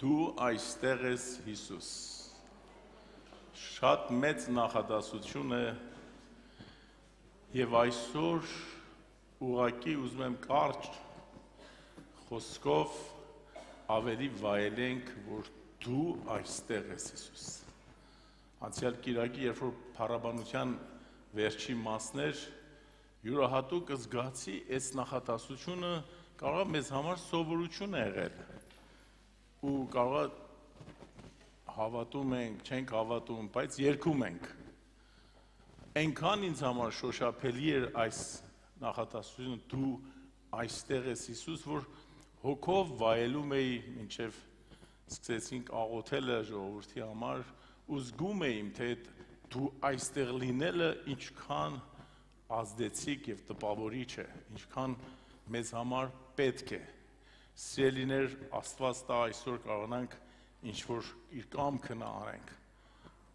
Դու այստեղ ես Հիսուս, շատ մեծ նախադասություն է և այսօր ուղղակի ուզում եմ կարճ խոսքով ավելի վայելենք, որ դու այստեղ ես Հիսուս։ Անցյալ կիրակի, երբ որ փառաբանության վերջի մասն էր, յուրահատուկ զգացի այս նախադասությունը կարող է մեզ համար սովորություն է եղել ու կարող է հավատում ենք, չենք հավատում, բայց երգում ենք։ Այնքան ինձ համար շոշափելի էր այս նախադասությունը դու այստեղ ես Հիսուս, որ հոգով վայելում էի, մինչև սկսեցինք աղոթելը ժողովրդի համար, ու զգում էի, թե դու այստեղ լինելը ինչքան ազդեցիկ և տպավորիչ է, ինչքան մեզ համար պետք է։ Սիրելիներ, Աստված տա այսօր կարողանանք ինչ-որ իր կամքը անենք։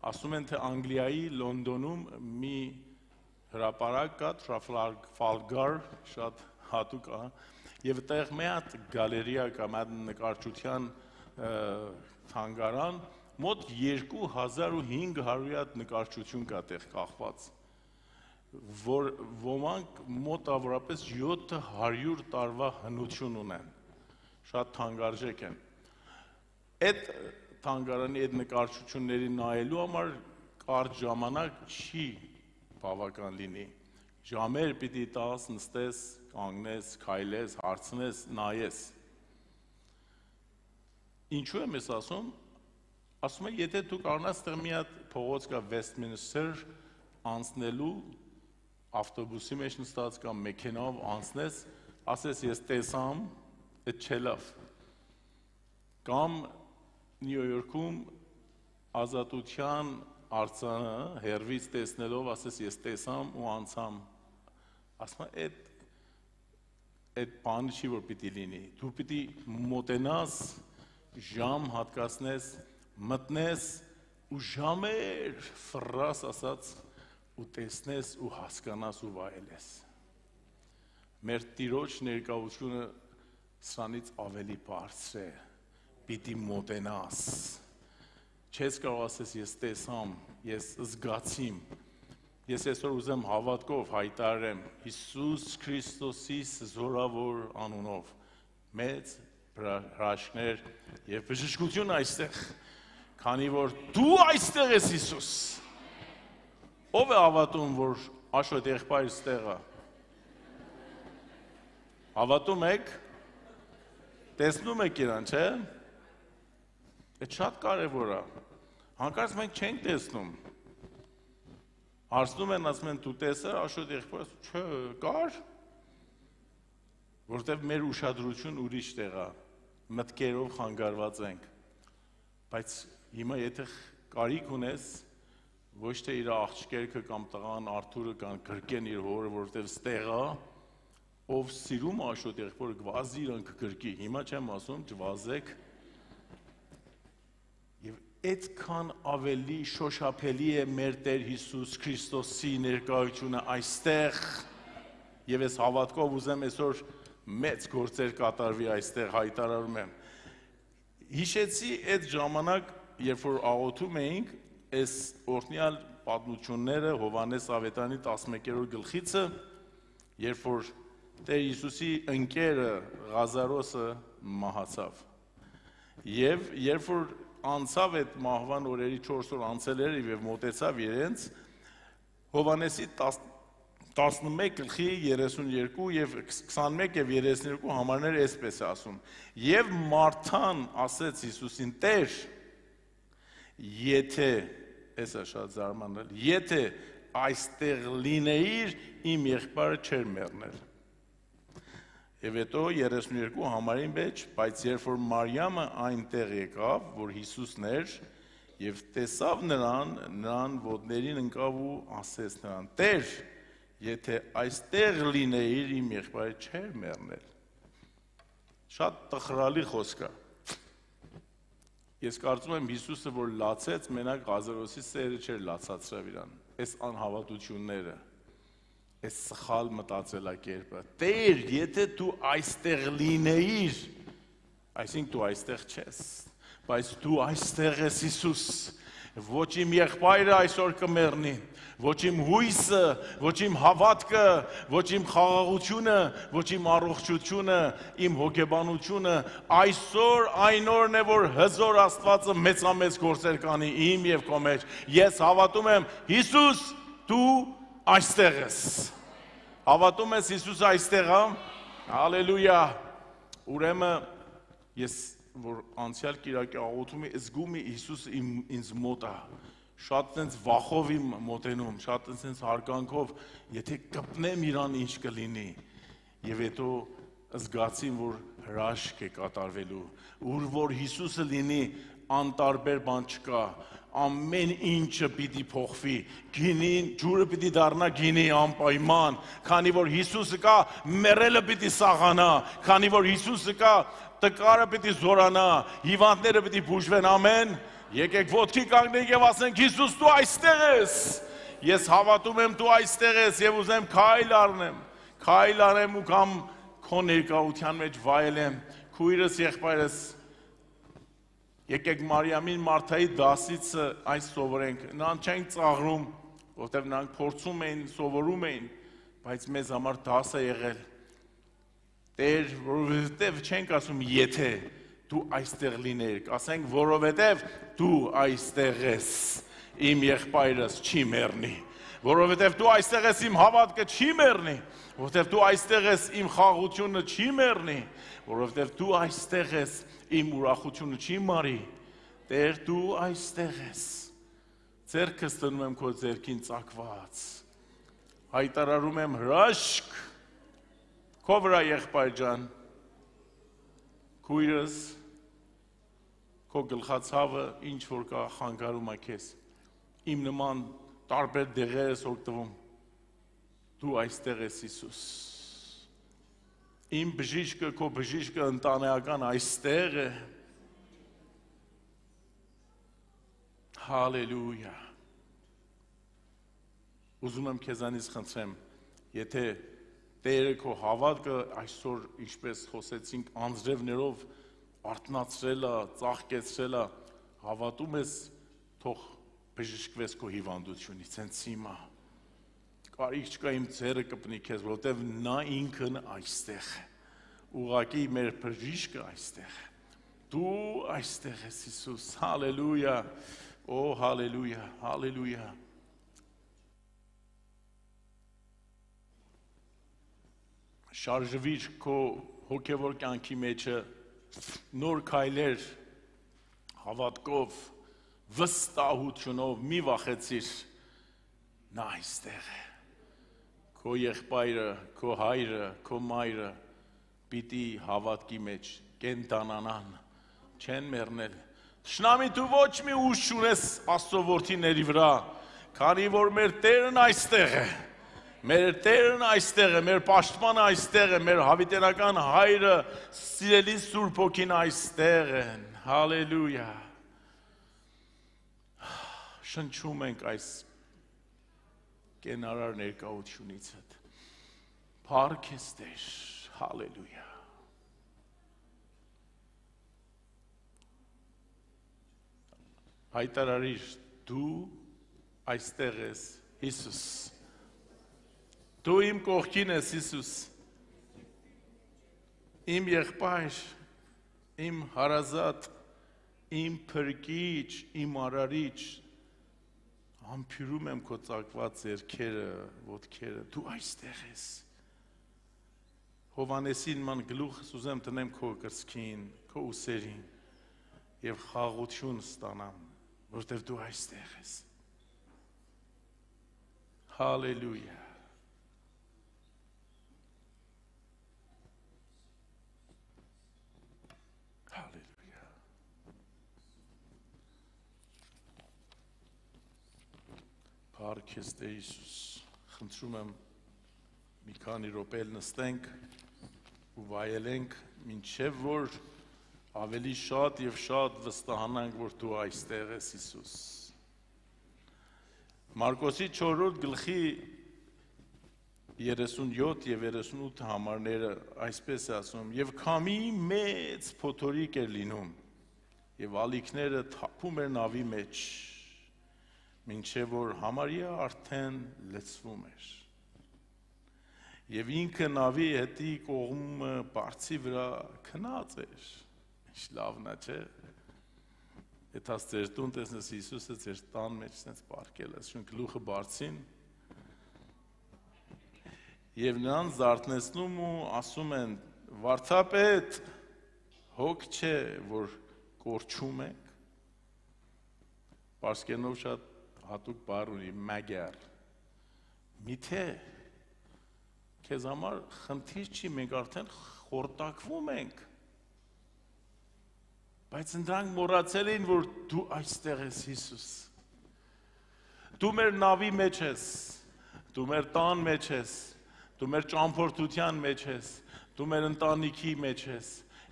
Ասում են, թե Անգլիայի Լոնդոնում մի հրապարակ կա, Trafalgar, շատ հատուկ է, և այդտեղ մի հատ գալերիա կա, մի հատ նկարչության թանգարան, մոտ 2500 հատ նկարչություն կա այդտեղ կախված, որ ոմանք մոտավորապես 700 տարվա հնություն ունեն, շատ թանկարժեք են։ Այդ թանգարանի այդ նկարչությունների նայելու համար կարճ ժամանակ չի բավական լինի։ Ժամեր պիտի տաս, նստես, կանգնես, քայլես, հարցնես, նայես։ Ինչու եմ ես ասում։ Ասում եմ, եթե դու կարողանաս այդտեղ մի հատ փողոց կա Westminster անցնելու ավտոբուսի մեջ նստած կամ մեքենայով անցնես, ասես ես տեսամ, այդ չէ լավ։ Կամ Նյու Յորքում Ազատության արձանը հեռվից տեսնելով, ասես ես տեսամ ու անցամ։ Ասում եմ, այդ բանը չի, որ պիտի լինի։ Դու պիտի մոտենաս, ժամ հատկացնես, մտնես ու ժամեր ֆռաս ասած ու տեսնես ու հասկանաս ու վայելես։ Մեր Տիրոջ ներկայությունը սրանից ավելի բարձր է, պիտի մոտենաս, չես կարող ասես ես տեսամ, ես զգացիմ, ես այսօր ուզեմ հավատքով հայտարարեմ Հիսուս Քրիստոսի զորավոր անունով, մեծ հրաշքներ և բժշկություն այստեղ, քանի որ դու այստեղ ես Հիսուս, ով է հավատում, որ Աշոտ եղբայրս տեղ է, հավատում եք, տեսնում եք իրան, չէ, այդ շատ կարևոր է, հանկարծ մենք չենք տեսնում, հարցնում են, ասում են, դու տեսար Աշոտ եղբայրս, չէ, կար, որտև մեր ուշադրություն ուրիշ տեղ է, մտքերով խանգարված ենք, բայց հիմա եթե կարիք ունես, ոչ թե իր աղջկերքը կամ տղան Արթուրը կամ գրկեն իր հորը, որտև ստեղ է, ով սիրում Աշոտ եղբորը գվազի իրան կգրկի, հիմա չեմ ասում, չվազեք, և այդքան ավելի շոշափելի է մեր Տեր Հիսուս Քրիստոսի ներկայությունը այստեղ, և ես հավատքով ուզեմ այսօր մեծ գործեր կատարվի այստեղ հայտարարում եմ։ Հիշեցի այդ ժամանակ, երբ որ աղոթում էինք, այս օրհնյալ պատմությունները Հովհաննես Ավետարանի 11-րդ գլխիցը, երբ որ Տեր Հիսուսի ընկերը Ղազարոսը մահացավ։ Եվ երբ որ անցավ այդ մահվան օրերի 4 օր անցել էր և մոտեցավ իրենց, Հովհաննեսի 11 գլխի 32 և 21 և 32 համարներ այսպես է ասում. Եվ Մարթան ասեց Հիսուսին, Տեր, եթե, այս է շատ զարմանալ, եթե այստեղ լինեիր, իմ եղբայրը չէր մեռնել։ Եվ հետո 32 համարի մեջ, բայց երբ որ Մարիամը այնտեղ եկավ, որ Հիսուսն էր, և տեսավ նրան ոտներին ընկավ ու ասեց նրան, Տեր, եթե այստեղ լինեիր, իմ եղբայրը չէր մեռնել։ Շատ տխրալի խոսք է։ Ես կարծում եմ Հիսուսը, որ լացեց, մենակ Ղազարոսի սերը չէր լացացրավ իրան, այս անհավատությունները, այս սխալ մտածելակերպը, Տեր, եթե դու այստեղ լինեիր, այսինքն դու այստեղ չես, բայց դու այստեղ ես Հիսուս, ոչ իմ եղբայրը այսօր կմեռնի, ոչ իմ հույսը, ոչ իմ հավատքը, ոչ իմ խաղաղությունը, ոչ իմ առողջությունը, իմ հոգեբանությունը, այսօր այն օրն է, որ հզոր Աստվածը մեծամեծ գործեր կանի իմ եւ քո մեջ։ Ես հավատում եմ, Հիսուս, դու այստեղ ես։ Հավատում ես Հիսուս այստեղ է։ Հալելույա։ Ուրեմն ես որ անցյալ կիրակի աղոթումը զգում եմ Հիսուսը ինձ մոտ է։ Շատ տենց վախով իմ մոտենում, շատ տենց հարգանքով, եթե կպնեմ իրան ինչ կլինի, եւ հետո զգացին, որ հրաշք է կատարվելու, ուր որ Հիսուսը լինի, անտարբեր բան չկա, ամեն ինչը պիտի փոխվի, գինին, ջուրը պիտի դառնա գինի անպայման, քանի որ Հիսուսը կա, մեռելը պիտի սաղանա, քանի որ Հիսուսը կա, տկարը պիտի զորանա, հիվանդները պիտի բուժվեն, ամեն։ Եկեք ոտքի կանգնենք եւ ասենք Հիսուս դու այստեղ ես։ Ես հավատում եմ դու այստեղ ես եւ ուզեմ քայլ առնեմ ու կամ քո ներկայության մեջ վայելեմ։ Քույրս, եղբայրս, եկեք Մարիամին Մարթայի դասից այս սովորենք։ Նրանք չեն ծաղրում, որտեղ նրանք փորձում էին, սովորում էին, բայց մեզ համար դաս է եղել։ Տեր, որովհետև չենք ասում եթե դու այստեղ լիներ, ասենք որովհետև դու այստեղ ես, իմ եղբայրս չի մեռնի, որովհետև դու այստեղ ես իմ հավատքը չի մեռնի, որովհետև դու այստեղ ես իմ խաղաղությունը չի մեռնի, որովհետև դու այստեղ ես իմ ուրախությունը չի մարի, Տեր դու այստեղ ես, ձեռքս դնում եմ քո ձեռքին ծակված, հայտարարում եմ հրաշք, քո վրա եղբայր ջան, քույրս, քո գլխացավը ինչ որ կա խանգարում է քեզ, իմ նման տարբեր դեղեր ես օգտվում, դու այստեղ ես Հիսուս, իմ բժիշկը, քո բժիշկը ընտանեկան այստեղ է, հալելույա, ուզում եմ քեզանից խնդրեմ, եթե Տերը քո հավատքը այսօր ինչպես խոսեցինք անձրևներով արթնացրել է, ծաղկեցրել է, հավատում ես թող բժշկվես քո հիվանդությունից, հենց հիմա։ Կարիք չկա իմ ձեռը կպնի քեզ, որովհետև նա ինքն այստեղ է։ Ուղղակի մեր բժիշկը այստեղ է։ Դու այստեղ ես Հիսուս, հալելույա, օ հալելույա, հալելույա։ Շարժվիր քո հոգևոր կյանքի մեջը նոր քայլեր հավատքով վստահությունով մի վախեցիր նա այստեղ է քո եղբայրը քո հայրը քո մայրը պիտի հավատքի մեջ կենտանանան չեն մեռնել Շնամի դու ոչ մի ուժ չունես Աստծո որդիների վրա քանի որ մեր Տերն այստեղ է Մեր Տերն այստեղ է, մեր պաշտպանը այստեղ է, մեր հավիտենական հայրը, սիրելի Սուրբ Հոգին այստեղ են, հալելույա, շնչում ենք այս կենարար ներկայությունիցդ, փառք ես Տեր, հալելույա, հայտարարիր, դու այստեղ ես, Հիսուս, Դու իմ կողքին ես Հիսուս, իմ եղբայր, իմ հարազատ, իմ փրկիչ, իմ արարիչ, համբուրում եմ քո ծակված ձեռքերը, ոտքերը, դու այստեղ ես։ Հովհաննեսին ման գլուխս ուզեմ տնեմ քո կրծքին, քո ուսերին եւ խաղաղություն ստանամ, որտեղ դու այստեղ ես։ Հալելույա։ Փառք ես Տեր Հիսուս, խնդրում եմ մի քանի րոպե նստենք ու վայելենք, մինչև որ ավելի շատ եւ շատ վստահանանք, որ դու այստեղ ես Հիսուս։ Մարկոսի 4-րդ գլխի 37 եւ 38 համարները այսպես է ասում, եւ քամի մեծ փոթորիկ էր լինում, եւ ալիքները թափում էր նավի մեջ, մինչեւ որ համարյա արդեն լցվում էր։ Եվ ինքը նավի հետի կողմը բարձի վրա քնած էր։ Ինչ լավն է, չէ՞։ Եթե ձեր տուն տեսնես Հիսուսը ձեր տան մեջ sense պարկել է, շուն գլուխը բարձին եւ նրան զարթնեցնում ու ասում են. «Վարդապետ, հոգ չէ, որ կորչում ենք»։ Պարսկերենով շատ հատուկ բառ ունի մագար։ Միթե քեզ համար խնդիր չի, մենք արդեն խորտակվում ենք։ Բայց նրանք մոռացել էին, որ դու այստեղ ես Հիսուս։ Դու մեր նավի մեջ ես, դու մեր տան մեջ ես, դու մեր ճամփորդության մեջ ես, դու մեր ընտանիքի մեջ ես,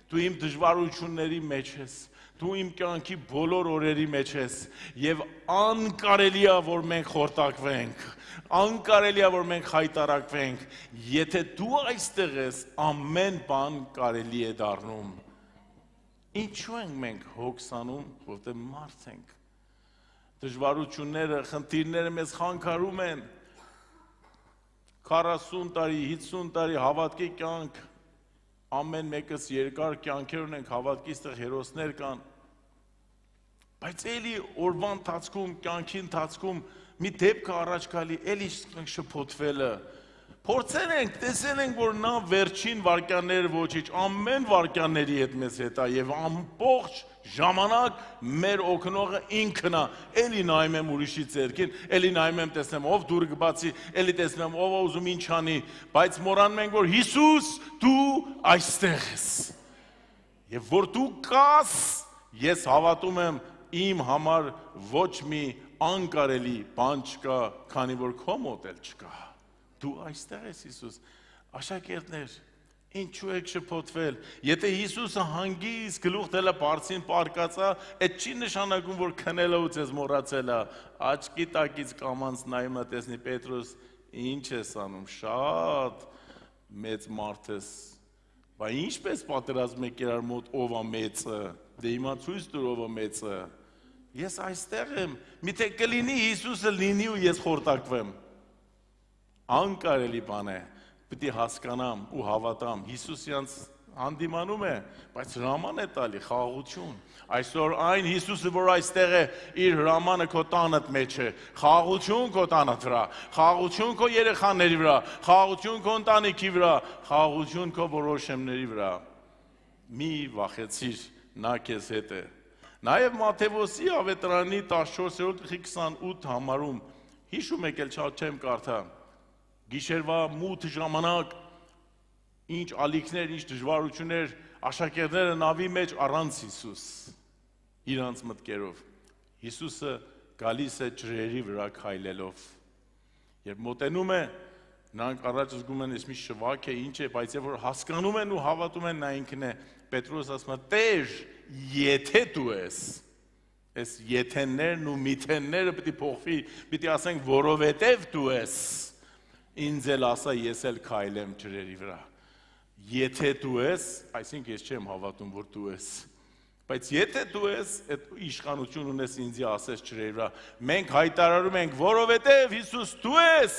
դու իմ դժվարությունների մեջ ես, դու իմ կյանքի բոլոր օրերի մեջ ես, եւ անկարելի է, որ մենք խորտակվենք, անկարելի է, որ մենք խայտարակվենք, եթե դու այստեղ ես, ամեն բան կարելի է դառնում։ Ինչու ենք մենք հոգսանում, որտեղ մարդ ենք։ Դժվարությունները, խնդիրները մեզ խանգարում են։ 40 տարի, 50 տարի հավատքի կյանք, ամեն մեկս երկար կյանքեր ունենք, հավատքի ստեղ հերոսներ կան։ Բայց էլի օրվա ընթացքում, կյանքի ընթացքում մի դեպք առաջ գալի, էլի շփոթվելը։ Փորձել ենք, տեսել ենք, որ նա վերջին վարքյանները ոչինչ, ամեն վարքյանների հետ մեզ հետ է եւ ամբողջ ժամանակ մեր օգնողը ինքն է։ Էլի նայում եմ ուրիշի ձեռքին, էլի նայում եմ տեսնեմ ով դուրը կբացի, էլի տեսնեմ ով է ուզում ինչ անի, բայց մոռանում ենք, որ Հիսուս դու այստեղ ես։ Եվ որ դու կաս, ես հավատում եմ իմ համար ոչ մի անկարելի բան չկա, քանի որ քո մոտ էլ չկա։ Դու այստեղ ես Հիսուս, աշակերտներ, ինչու եք շփոթվել, եթե Հիսուսը հանգիստ գլուխ դելը բարձին պարկածա, այդ չի նշանակում, որ քնելը ու ձեզ մոռացել է, աչքի տակից կամանց նայում է տեսնի Պետրոս, ինչ ես անում, շատ մեծ մարդ ես, բա ինչպես պատերազմ եք իրար մոտ ով է մեծը, դե հիմա ցույց տուր ով է մեծը, ես այստեղ եմ, միթե կլինի Հիսուսը լինի ու ես խորտակվեմ, անկարելի բան է, պիտի հասկանամ ու հավատամ, Հիսուսյանց հանդիմանում է, բայց հրաման է տալի, խաղաղություն, այսօր այն Հիսուսը, որ այստեղ է, իր հրամանը քո տանդ մեջ է, խաղաղություն քո տանդ վրա, խաղաղություն քո երեխաների վրա, խաղաղություն քո ընտանիքի վրա, խաղաղություն քո որոշումների վրա, մի վախեցիր, նա քեզ հետ է, նաև Մատթեոսի ավետարանի 14-28 համարում, հիշում եք էլ չեմ կարդա, Գիշերվա մութ ժամանակ, ինչ ալիքներ, ինչ դժվարություններ, աշակերտները նավի մեջ առանց Հիսուս, իրանց մտքերով, Հիսուսը գալիս է ջրերի վրա քայլելով, երբ մոտենում է, նրանք առաջ զգում են, ես մի շվակ է, ինչ է, բայց երբ որ հասկանում են ու հավատում են, նա ինքն է, Պետրոս ասում է, Տեր, եթե դու ես, այս եթեններն ու միթենները պիտի փոխվի, պիտի ասենք, որովհետև դու ես, ինձ էլ ասա, ես էլ քայլեմ ջրերի վրա, եթե դու ես, այսինքն ես չեմ հավատում, որ դու ես, բայց եթե դու ես, այդ իշխանություն ունես ինձի ասես ջրերի վրա, մենք հայտարարում ենք, որովհետև Հիսուս դու ես,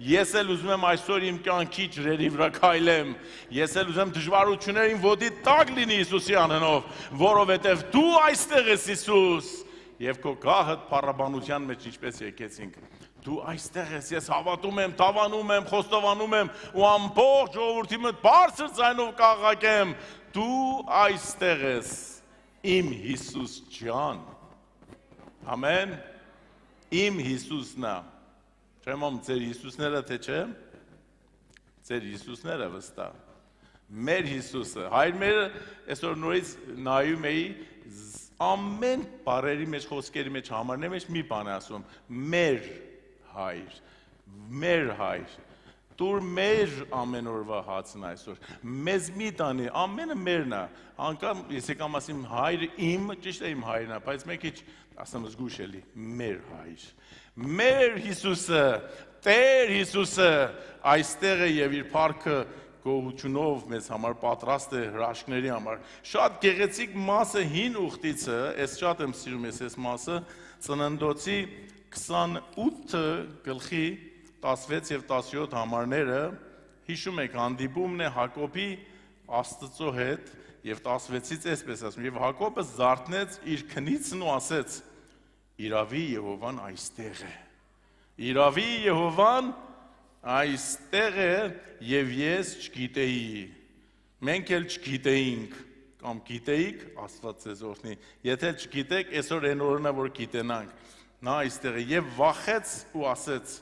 ես էլ ուզում եմ այսօր իմ կյանքի ջրերի վրա քայլեմ, ես էլ ուզում եմ դժվարություններին ոտի տակ լինի Հիսուսի անունով, որովհետև դու այստեղ ես Հիսուս, եւ քո գահդ փառաբանության մեջ ինչպես եկեցինք, դու այստեղ ես, ես հավատում եմ, տավանում եմ, խոստովանում եմ ու ամբողջ ժողովրդի մոտ բարձր ձայնով կաղաղակեմ, դու այստեղ ես, իմ Հիսուս ջան, ամեն, իմ Հիսուսն է, չեմ ում ձեր Հիսուսները թե չէ, ձեր Հիսուսները վստահ, մեր Հիսուսը, հայր մերը, այսօր նորից նայում էի, ամեն բառերի մեջ, խոսքերի մեջ, համարների մեջ մի բան է ասում, մեր հայր, դուր մեր ամեն օրվա հացն այսօր, մեզ մի տանի, ամենը մերն է, անգամ ես եկամ ասիմ հայրը իմ, ճիշտ է իմ հայրն է, բայց մեկ իչ ասեմ զգուշ էլի, մեր հայր, մեր Հիսուսը, Տեր Հիսուսը այստեղ է և իր փառքը գոհությունով մեզ համար պատրաստ է հրաշքների համար։ Շատ գեղեցիկ մասը հին ուխտիցը, այս շատ եմ սիրում այս մասը, Ծննդոցի 28 գլխի 16 եւ 17 համարները, հիշում եք, հանդիպումն է Հակոբի Աստծո հետ եւ 16-ից այսպես ասում, եւ Հակոբը զարթնեց իր քնիցն ու ասեց. Իրավի Եհովան այստեղ է։ Իրավի Եհովան այստեղ է եւ ես չգիտեի։ Մենք էլ չգիտեինք, կամ գիտեիք, Աստված ձեզ օրհնի։ Եթե չգիտեք, այսօր այն օրն է, որ գիտենանք։ Նա այստեղ է եւ վախեց ու ասեց.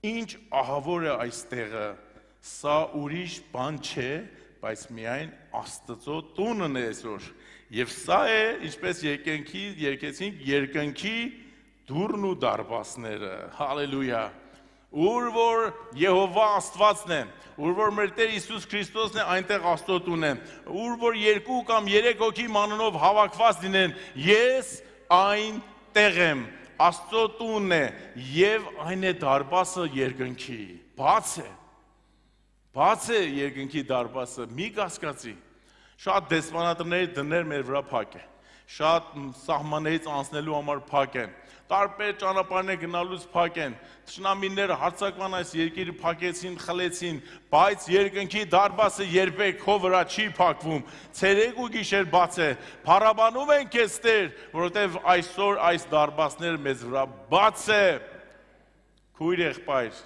Ինչ ահավոր է այստեղը, սա ուրիշ բան չէ, բայց միայն Աստծո տունն է այսօր։ Եվ սա է, ինչպես երկեցինք, երկնքի դուռն ու դարպասները։ Հալելույա։ Ուր որ Եհովա Աստվածն է, ուր որ մեր Տեր Հիսուս Քրիստոսն է, այնտեղ Աստծո տունն է։ Ուր որ 2 կամ 3 հոգի մանունով հավաքված լինեն, ես այնտեղ եմ։ Աստծո տունն է եւ այն է դարպասը երկնքի։ Բաց է երկնքի դարպասը, մի կասկածի։ Շատ դեսպանատների դներ մեր վրա փակ է։ Շատ սահմաններից անցնելու համար փակ են։ Տարբեր ճանապարհներ գնալուց փակ են։ Թշնամիները հարձակման այս երկիրը փակեցին, խլեցին, բայց երկնքի դարպասը երբեք քո վրա չի փակվում։ Ցերեկ ու գիշեր բաց է։ Փառաբանում ենք քեզ Տեր, որովհետև այսօր այս դարպասները մեզ վրա բաց է։ Քույր եղբայր,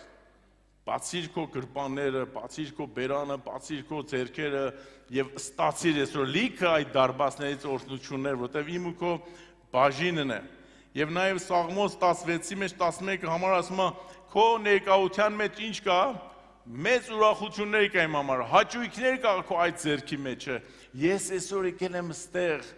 բացիր քո գրպանները, բացիր քո բերանը, բացիր քո ձեռքերը եւ ստացիր այսօր լիքը այդ դարպասներից օրհնություններ, որովհետև իմ ու քո բաժինն է։ Եվ նաև Սաղմոս 16-ի մեջ 11 համար ասում է, քո ներկայության մեջ ինչ կա, մեծ ուրախություններ կա իմ համար, հաճույքներ կա քո այդ ձեռքի մեջը։ Ես այսօր եկել եմ ստեղ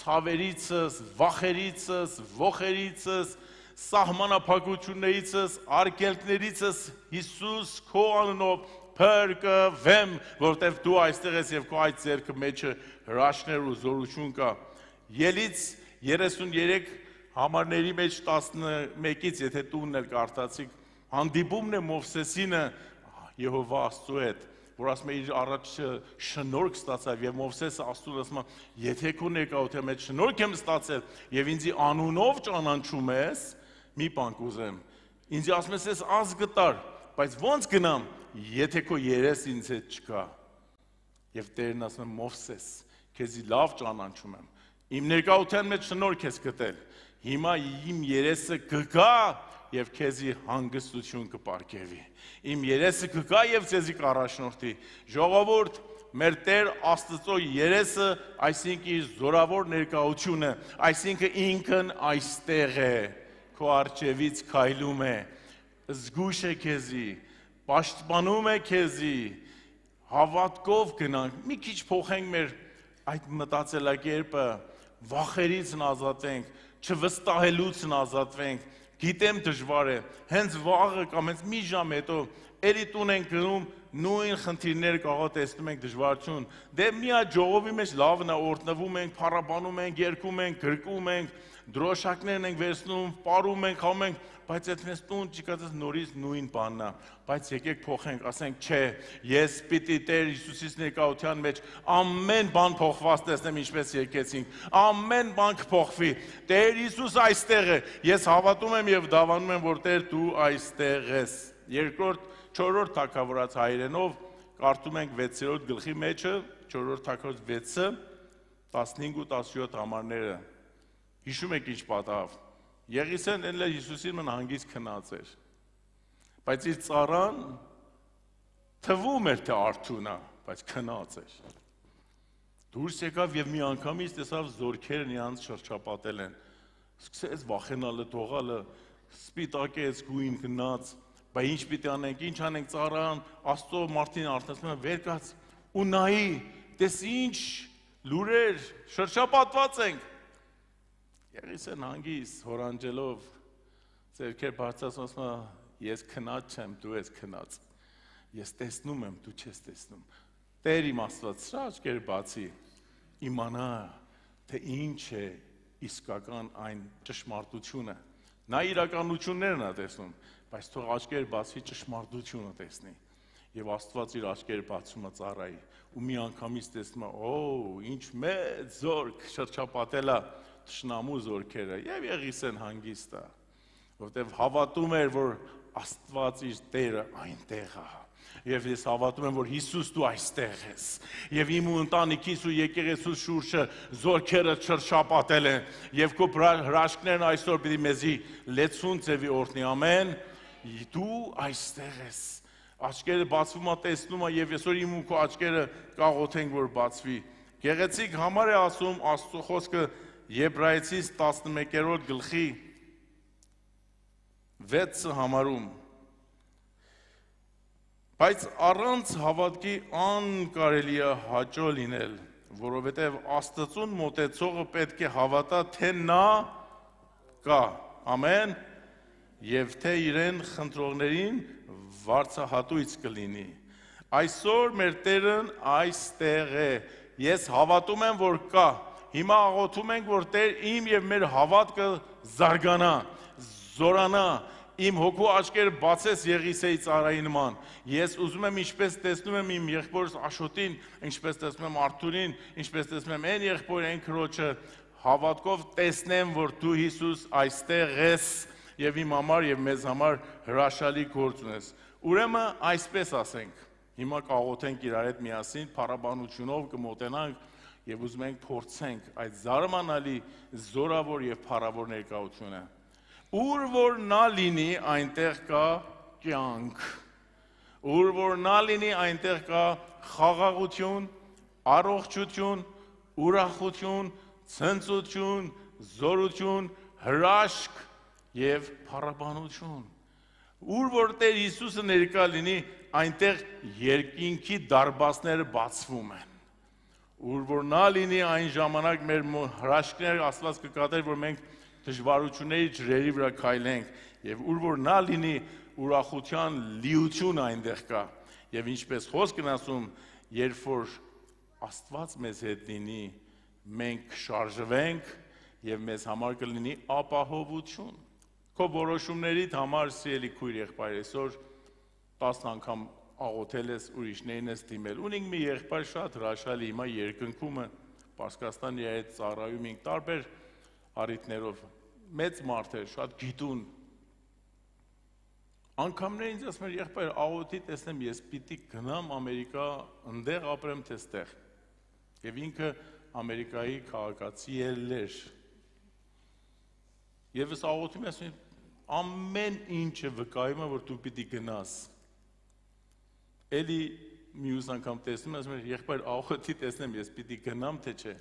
ցավերիցս, վախերիցս, ողերիցս, սահմանափակություններիցս, արգելքներիցս Հիսուս քո անունով փրկվեմ, որովհետև դու այստեղ ես եւ քո այդ ձեռքը մեջը հրաշքներ ու զորություն կա։ Ելից 33 համարների մեջ 11-ից, եթե տունն էլ կարդացիք, հանդիպումն է Մովսեսինը Եհովա Աստծո հետ, որ ասում է իր առաջ շնորհք ստացավ եւ Մովսեսը Աստծուն ասում է, եթե քո ներկայության մեջ շնորհք եմ ստացել եւ ինձի անունով ճանաչում ես, մի բան կուզեմ։ Ինձ ասում ես аз գտար, բայց ո՞նց գնամ, եթե քո երես ինձ հետ չկա։ Եվ Տերն ասում է Մովսես, քեզի լավ ճանաչում եմ։ Իմ ներկայության մեջ շնորհք ես գտել։ Հիմա իմ երեսը կգա եւ քեզի հանգստություն կպարգևի։ Իմ երեսը կգա եւ քեզի կառաջնորդի։ Ժողովուրդ, մեր Տեր Աստծո երեսը, այսինքն իր զորավոր ներկայությունը, այսինքն ինքն այստեղ է, քո արջևից քայլում է, զգուշ է քեզի, պաշտպանում է քեզի, հավատքով գնանք, մի քիչ փոխենք մեր այդ մտածելակերպը, վախերից ազատվենք, չվստահելուց ազատվենք, գիտեմ դժվար է, հենց վաղը կամ հենց մի ժամ հետո էլի տուն ենք գնում, նույն խնդիրներ կարող տեսնում ենք դժվարություն, դե մի հատ ժողովի մեջ լավն է, օրհնվում ենք, փառաբանում ենք, երգում ենք, գրկում ենք, դրոշակներն ենք վերցնում, պարում ենք, խաղում ենք, բայց այդ մեզ տուն չկացած նորից նույն բանն է, բայց եկեք փոխենք, ասենք չէ, ես պիտի Տեր Հիսուսից ներկայության մեջ ամեն բան փոխված տեսնեմ, ինչպես եկեցինք, ամեն բան կփոխվի, Տեր Հիսուս այստեղ է, ես հավատում եմ եւ դավանում եմ, որ Տեր դու այստեղ ես։ Երկրորդ 4-րդ թագավորաց հայրենով կարդում ենք 6-րդ գլխի մեջը, 4-րդ թագավորաց 6-ը, 15 ու 17 համարները։ Հիշում եք ինչ պատահավ։ Եղիսեն էլ Հիսուսին մն հանգիստ քնած էր։ Բայց իր ծառան թվում էր թե արթուն է, բայց քնած էր։ Դուրս եկավ եւ մի անգամից տեսավ զորքերն իրանց շրջապատել են։ Սկսեց վախենալը, թողալը, սպիտակեց, գույն գնաց, բայց ինչ պիտի անենք, ինչ անենք ծառան, Աստծո մարդին արթնացնում է, վեր կաց ու նայի, տես ինչ լուրեր, շրջապատված ենք։ Եղիսեն հանգիստ հորանջելով ձեռքեր բարձրացնում ասում է, ես քնած չեմ, դու ես քնած։ Ես տեսնում եմ, դու չես տեսնում։ Տեր իմ Աստված, սրա աչքերը բացի, իմանա, թե ինչ է իսկական այն ճշմարտությունը։ Նա իրականություններն է տեսնում, բայց թող աչքերը բացի ճշմարտությունը տեսնի։ Եվ Աստված իր աչքերը բացում է ծառայի, ու մի անգամից տեսնում է, ինչ մեծ զորք շրջապատել է թշնամու զորքերը, եւ Եղիսեն հանգիստ է, որովհետեւ հավատում էր, որ Աստված իր Տերը այնտեղ է։ Եվ ես հավատում եմ, որ Հիսուս դու այստեղ ես, եւ իմ ու ընտանիքիս ու եկեղեցուս շուրջը զորքերը շրջապատել են, եւ քո հրաշքներն այսօր պիտի մեզի լեցուն ձևի օրհնի, ամեն, դու այստեղ ես, աչքերը բացվում է, տեսնում է, եւ այսօր իմ ու քո աչքերը կաղոթենք, որ բացվի։ Գեղեցիկ համար է ասում Աստծո խոսքը Եբրայեցիս 11-րդ գլխի 6 համարում, բայց առանց հավատքի անկարելի է հաճո լինել, որովհետև Աստծուն մոտեցողը պետք է հավատա, թե նա կա, ամեն, եւ թե իրեն խնդրողներին վարձահատույց կլինի։ Այսօր մեր Տերն այստեղ է, ես հավատում եմ, որ կա, հիմա աղոթում ենք, որ Տեր իմ եւ մեր հավատքը զարգանա, զորանա, իմ հոգու աչքերը բացես Եղիսեի ծառայի նման։ Ես ուզում եմ, ինչպես տեսնում եմ իմ եղբորս Աշոտին, ինչպես տեսնում եմ Արթուրին, ինչպես տեսնում եմ այն եղբորը, այն քրոջը, հավատքով տեսնեմ, որ դու Հիսուս այստեղ ես եւ իմ համար եւ մեզ համար հրաշալի գործ ունես։ Ուրեմն այսպես ասենք, հիմա կաղոթենք իրար հետ միասին, փառաբանությունով կմոտենանք եւ ուզում ենք փորձենք այդ զարմանալի զորավոր եւ փառավոր ներկայությունը։ Ուր որ նա լինի, այնտեղ կա կյանք, ուր որ նա լինի, այնտեղ կա խաղաղություն, առողջություն, ուրախություն, ցնծություն, զորություն, հրաշք եւ փառաբանություն։ Ուր որ Տեր Հիսուսը ներկա լինի, այնտեղ երկինքի դարբասները բացվում են։ Ուր որ նա լինի, այն ժամանակ մեր հրաշքները Աստված կկատարի, որ մենք դժվարությունների ջրերի վրա քայլենք, եւ ուր որ նա լինի, ուրախության լիություն այնտեղ կա, եւ ինչպես խոսքն ասում, երբ որ Աստված մեզ հետ լինի, մենք կշարժվենք եւ մեզ համար կլինի ապահովություն։ Քո որոշումներիդ համար սիրելի քույր եղբայր, այսօր 10 անգամ աղոթել ես, ուրիշներին ես դիմել։ Ունենք մի եղբայր շատ հրաշալի, հիմա երկնքում է, Պարսկաստանի հետ ծառայում ենք տարբեր առիթներով, մեծ մարդ է, շատ գիտուն։ Անգամներ ինձ ասում էր, եղբայր, աղոթի տեսնեմ, ես պիտի գնամ Ամերիկա, ընդեղ ապրեմ թե ստեղ։ Եվ ինքը Ամերիկայի քաղաքացի էր։ Եվ ես աղոթում եմ, ասում եմ, ամեն ինչը վկայում է, որ դու պիտի գնաս։ Էլի մյուս անգամ տեսնում եմ, ասում եմ, եղբայր, աղոթի տեսնեմ, ես պիտի գնամ թե չէ։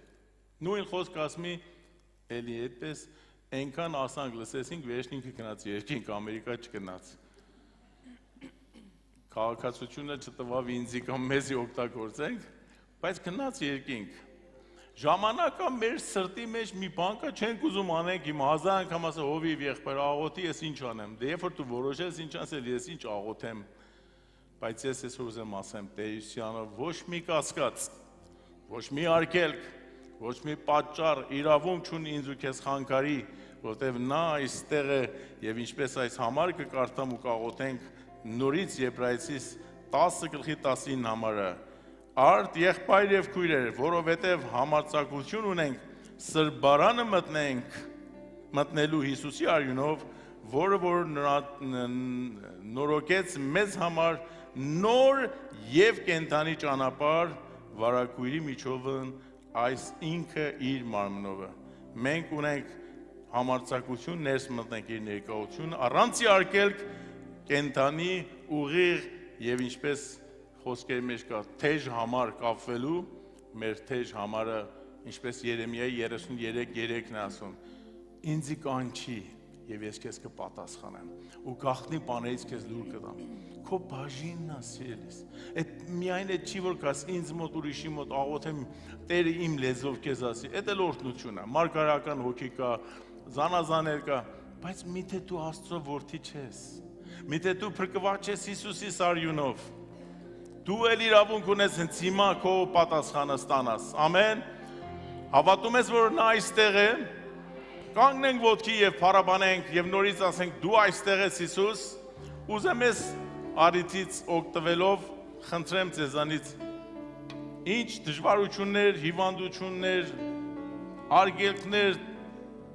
Նույն խոսք ասում էլի այդպես, այնքան ասանք լսեցինք, վերջին ինքը գնաց երկինք, Ամերիկա չգնաց։ Քաղաքացիությունը չտվավ ինձի կամ մեզի օգտագործենք, բայց գնաց երկինք։ Ժամանակա մեր սրտի մեջ մի բան կա, չենք ուզում անենք, իմ 1000 անգամ ասա հովիվ եղբայր աղոթի, ես ինչ անեմ։ Դե երբ որ դու որոշես ինչ ասել, ես ինչ աղոթեմ։ Բայց ես այսօր ուզեմ ասեմ, Տերյուսյանը ոչ մի կասկած, ոչ մի արգելք, ոչ մի պատճառ, իրավունք չունի ինձ ու քեզ խանգարի, որտեղ նա այստեղ է եւ ինչպես այս համար կկարդամ ու կաղոթենք նորից Եբրայեցիս 10:19 համարը։ Արդ եղբայր եւ քույրեր, որովհետեւ համարձակություն ունենք սրբարանը մտնելու Հիսուսի արյունով, որը որ նորոգեց մեզ համար նոր եւ կենթանի ճանապարհ վարակույրի միջովն այս ինքը իր մարմնով է։ Մենք ունենք համարձակություն ներս մտնենք իր ներկայությունը, առանց արգելք կենթանի ուղիղ եւ ինչպես խոսքերի մեջ կա թեժ համար կապվելու, մեր թեժ համարը, ինչպես Երեմիայի 33:3-ն է ասում, ինձի կանչի եւ ես քեզ կպատասխանեմ ու գաղտնի բաներից քեզ լուր կտամ։ Քո բաժինն է, սիրելիս։ Այդ միայն այդ չի որ կաս ինձ մոտ ուրիշի մոտ աղոթեմ, Տերը իմ լեզվով քեզ ասի, այդ էլ օրհնություն է, մարգարական հոգի կա, զանազաներ կա, բայց միթե դու Աստծո որդի չես։ Միթե դու փրկված ես Հիսուսի արյունով։ Դու էլ իրավունք ունես հենց հիմա քո պատասխանը ստանաս։ Ամեն։ Հավատում ես, որ նա այստեղ է։ Կանգնենք ոտքի եւ փառաբանենք եւ նորից ասենք դու այստեղ ես Հիսուս։ Ուզեմ ես արիթից օգտվելով խնդրեմ ձեզանից ինչ դժվարություններ, հիվանդություններ, արգելքներ,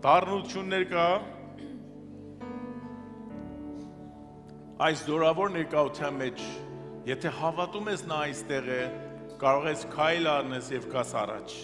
դառնություններ կա այս զորավոր ներկայության մեջ, եթե հավատում ես նա այստեղ է, կարող ես քայլ առնես եւ գաս առաջ։